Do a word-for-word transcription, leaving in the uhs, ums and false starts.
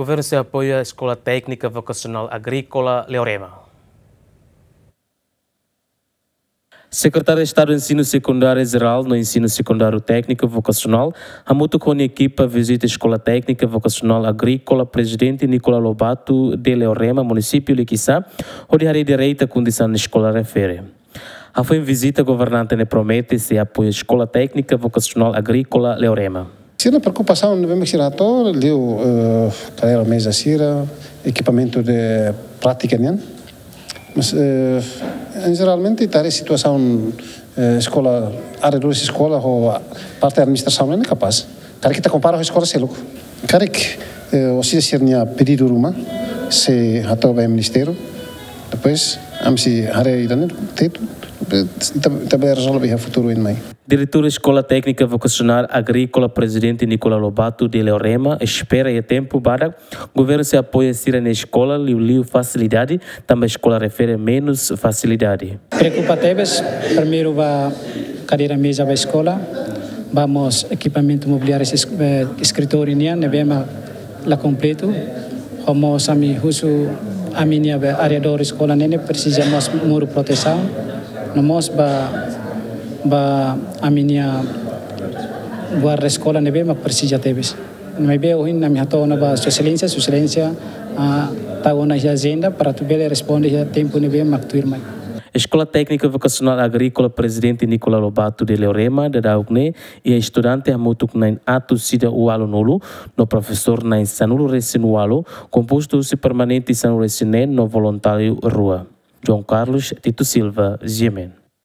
Governu sei apoia Eskola Téknika Vokasionál Agríkola Leorema. Sekretáriu Estadu Ensinu Sekundáriu Jerál no Ensinu Sekundáriu Tékniku Vokasionál hamutuk ho nia ekipa vizita Eskola Téknika Vokasionál Agríkola Prezidente Nicolau Lobato de Leorema, munisípiu Liquiçá, hodi haree direta kondisaun eskola refere. Hafoin vizita, governante ne'e promete sei apoia Eskola Téknika Vokasionál Agríkola Leorema. Sira-nia preokupasaun ne'ebé mak sira hato'o liu, eh, kadeira meza sira, ekipamentu de prátika nian. Mas, eh, em jeralmente, ita haree situasaun, eh, eskola, arredores eskola ho parte administrasaun ne'e kapás. Karik ita kompara ho eskola seluk. Karik, eh, orsida sira-nia pedidu ruma sei hato'o ba ministériu. Depois, ami sei haree ida-ne'e direitu, ita, ita bele rezolve iha futuru oin mai. Diretór Eskola Téknika Vokasionál Agríkola Prezidente Nicolau Lobato de Leorema espera iha tempu badak governu sei apoia sira-nia eskola liuliu fasilidade, tanba eskola refere menus fasilidade. Preokupa tebes, primeiru ba kadeira meza ba eskola, ba mós ekipamentu mobiliáriu es-, eh, eskritóriu nian ne'ebé mak la kompletu. Ho mós ami husu ami-nia be arredór eskola ne'e ne'e presiza mós muru protesaun. No mós ba, ba ami-nia guarda eskola ne'ebé mak presiza tebes. Maibé ohin ami hato'o ona ba Sua Exelénsia, Sua Exelénsia, ah, tau ona iha ajenda para atu bele responde iha tempu ne'ebé mak tuirmai. Eskola Téknika Vokasionál Agríkola Prezidente Nicolau Lobato de Leorema daudauk ne'e iha estudante hamutuk na'in atus ida ualunulu, no profesór na'in sanulu-resin-ualu, kompostu husi permanente sanulu-resin-neen no voluntáriu rua. João Carlos Tito Silva, G M N.